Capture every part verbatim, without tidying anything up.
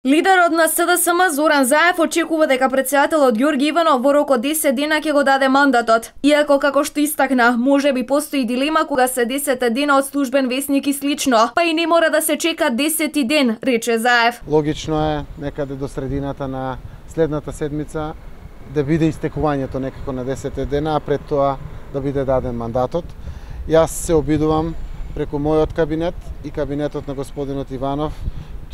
Лидерот на С Д С М Зоран Заев очекува дека претседателот Ѓорги Иванов во рок од десет дена ќе го даде мандатот. Иако, како што истакна, можеби постои дилема кога се десет дена од службен весник и слично, па и не мора да се чека десети ден, рече Заев. Логично е некаде до средината на следната седмица да биде истекувањето некако на десет дена, а пред тоа да биде даден мандатот. Јас се обидувам преку мојот кабинет и кабинетот на господинот Иванов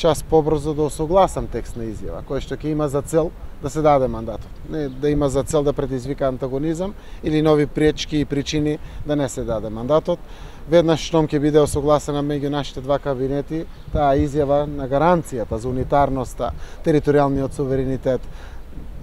час побрзо да осогласам текст на изјава, кој што ќе има за цел да се даде мандатот. Не да има за цел да предизвика антагонизам или нови пречки и причини да не се даде мандатот. Веднаш штом ќе биде осогласена меѓу нашите два кабинети, таа изјава на гаранцијата за унитарноста, територијалниот суверенитет,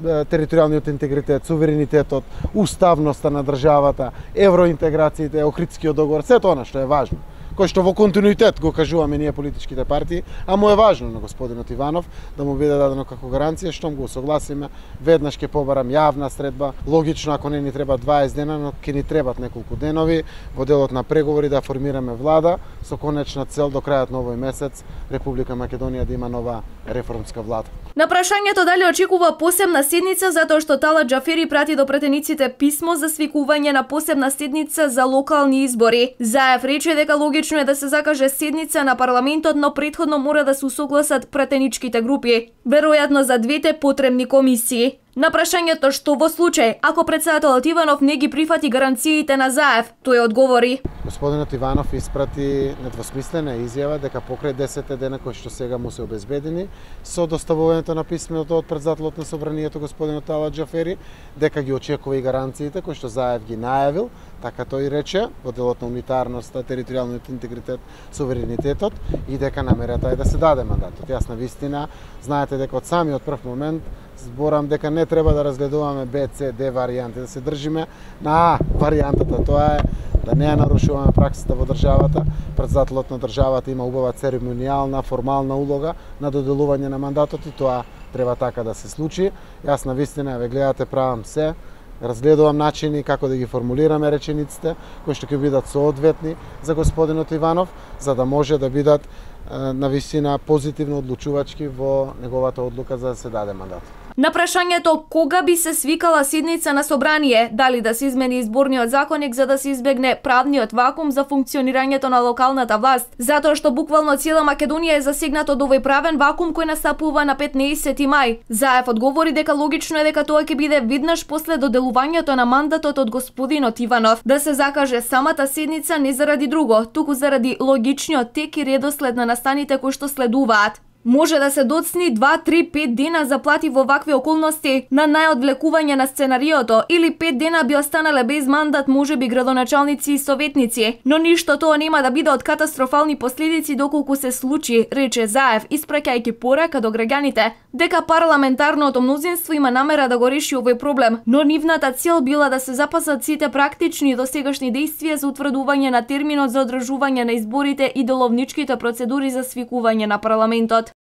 територијалниот интегритет, суверенитетот, уставноста на државата, евроинтеграциите, Охридскиот договор, сето она што е важно, кој што во континуитет го кажуваме ние политичките партии, а му е важно на господинот Иванов да му биде дадено како гаранција, штом го согласиме, веднаш ќе побарам јавна средба, логично ако не ни треба дваесет дена, но ќе ни требат неколку денови во делот на преговори да формираме влада со конечна цел до крајот на овој месец Република Македонија да има нова реформска влада. На прашањето дали очекува посебна седница затоа што Талат Џафери прати до претениците писмо за свикување на посебна седница за локални избори. Заев рече дека логично е да се закаже седница на парламентот, но претходно мора да се усогласат претеничките групи, веројатно за двете потребни комисии. На прашањето што во случај ако претседателот Иванов не ги прифати гаранциите на Заев, тој одговори: Господинот Иванов испрати недвосмислена изјава дека покрај десет дена кои што сега му се обезбедени со доставувањето на писмото од претседателот на собранието господинот Талат Џафери, дека ги очекува и гаранциите кои што Заев ги најавил, така тој рече, во делот на унитарноста, територијалниот интегритет, суверенитетот и дека намерата е да се даде мандатот. Јас на вистина, знаете дека од самиот прв момент зборам дека не треба да разгледуваме Б, С, Д варијанти, да се држиме на А варијантата, тоа е да не ја нарушуваме праксата во државата. Претседателот на државата има убава церемонијална, формална улога на доделување на мандатот и тоа треба така да се случи. Јас на вистина, ве гледате, правам се, разгледувам начини како да ги формулираме речениците, кои што ќе бидат соодветни за господинот Иванов, за да може да бидат на вистина позитивно одлучувачки во неговата одлука за да се даде мандат. На прашањето кога би се свикала седница на собрание, дали да се измени изборниот законник за да се избегне правниот вакуум за функционирањето на локалната власт, затоа што буквално цела Македонија е засегната од овој правен вакуум кој настапува на петнаесети мај. Заев одговори дека логично е дека тоа ќе биде веднаш после доделувањето на мандатот од господинот Иванов, да се закаже самата седница не заради друго, туку заради логичниот тек и редослед на настаните кои што следуваат. Може да се доцни два, три, пет дена заплати во вакви околности на најодвлекување на сценариото или пет дена би останале без мандат можеби градоначалници и советници, но ништо тоа нема да биде од катастрофални последици доколку се случи, рече Заев, испраќајќи порака до граѓаните дека парламентарното мнозинство има намера да го реши овој проблем, но нивната цел била да се запазат сите практични досегашни дејствија за утврдување на терминот за одржување на изборите и деловничките процедури за свикување на парламентот.